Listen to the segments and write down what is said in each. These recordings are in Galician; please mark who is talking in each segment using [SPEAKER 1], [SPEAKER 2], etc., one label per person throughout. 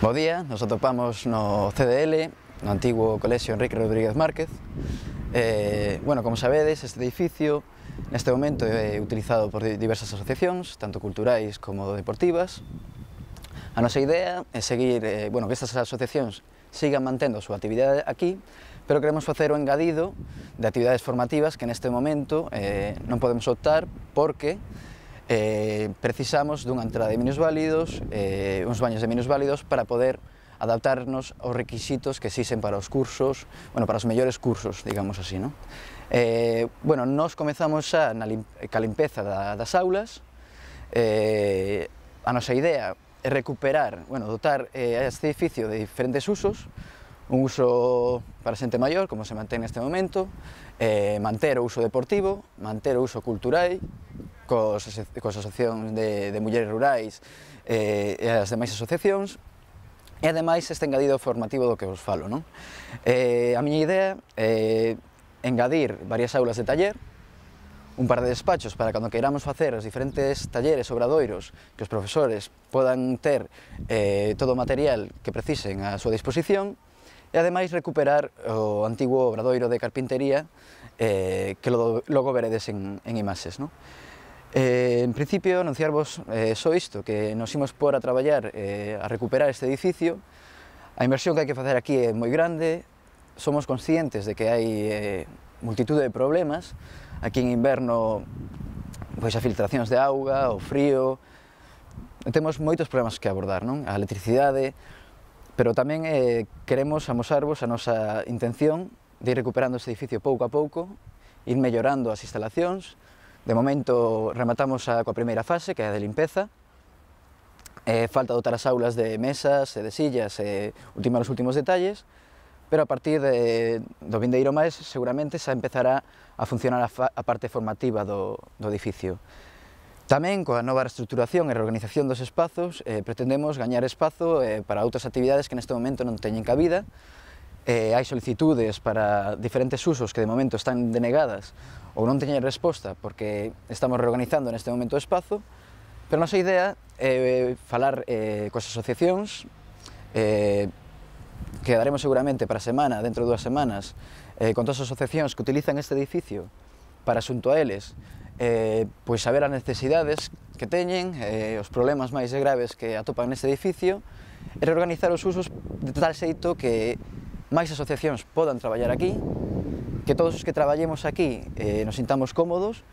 [SPEAKER 1] Bo día, nos atopamos no CDL, no antigo Colexio Enrique Rodríguez Márquez. Como sabedes, este edificio neste momento é utilizado por diversas asociacións, tanto culturais como deportivas. A nosa idea é seguir, que estas asociacións sigan mantendo a súa actividade aquí, pero queremos facer o engadido de actividades formativas que neste momento non podemos optar porque precisamos dunha entrada de minusválidos, uns baños de minusválidos para poder adaptarnos aos requisitos que exixen para os cursos, para os mellores cursos, digamos así, non? Nós comezamos xa ca limpeza das aulas. A nosa idea é recuperar, dotar este edificio de diferentes usos, un uso para xente maior, como se mantén neste momento, manter o uso deportivo, manter o uso cultural, coas asociacións de mulleres rurais e as demais asociacións, e ademais este engadido formativo do que vos falo, non? A miña idea é engadir varias aulas de taller, un par de despachos para cando queiramos facer os diferentes talleres, obradoiros, que os profesores podan ter todo o material que precisen á súa disposición, e ademais recuperar o antigo obradoiro de carpintería que logo veredes en imaxes, non? En principio, anunciarvos só isto, que nos imos pôr a traballar a recuperar este edificio. A inversión que hai que facer aquí é moi grande, somos conscientes de que hai multitude de problemas. Aquí en inverno, as filtracións de auga, o frío, temos moitos problemas que abordar, non? A electricidade, pero tamén queremos amosarvos a nosa intención de ir recuperando este edificio pouco a pouco, ir mellorando as instalacións. De momento rematamos coa primeira fase, que é a de limpeza. Falta dotar as aulas de mesas e de sillas e ultimar os últimos detalles, pero a partir do vindeiro máis seguramente xa empezará a funcionar a parte formativa do edificio. Tamén, coa nova reestruturación e reorganización dos espazos, pretendemos gañar espazo para outras actividades que neste momento non teñen cabida. Hai solicitudes para diferentes usos que de momento están denegadas ou non teñen resposta porque estamos reorganizando neste momento o espazo, pero a nosa idea é falar coas asociacións, quedaremos seguramente para a semana, dentro de 2 semanas, con todas as asociacións que utilizan este edificio para xunto a eles, saber as necesidades que teñen, os problemas máis graves que atopan neste edificio, e reorganizar os usos de tal xeito que máis asociacións podan traballar aquí, que todos os que traballemos aquí nos sintamos cómodos,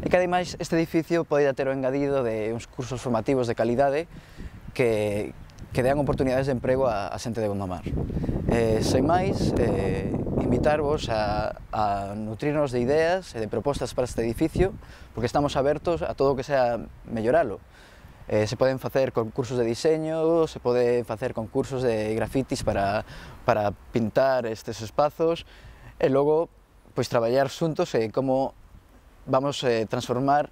[SPEAKER 1] e que ademais este edificio poida ter o engadido de uns cursos formativos de calidade que dean oportunidades de emprego a xente de Gondomar. Sen máis, invitarvos a nutrirnos de ideas e de propostas para este edificio, porque estamos abertos a todo o que sea melloralo. Se poden facer concursos de diseño, se poden facer concursos de grafitis para pintar estes espazos, e logo traballar xuntos como vamos transformar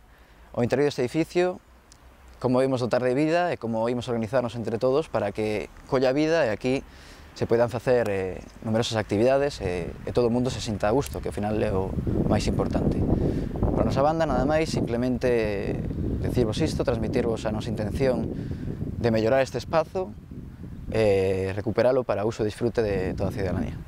[SPEAKER 1] o interior deste edificio, como imos dotar de vida e como imos organizarnos entre todos para que colla vida e aquí se poidan facer numerosas actividades e todo o mundo se sinta a gusto, que ao final é o máis importante. Por a nosa banda, nada máis, simplemente decirvos isto, transmitirvos a nosa intención de mellorar este espazo e recuperalo para uso e disfrute de toda a cidadanía.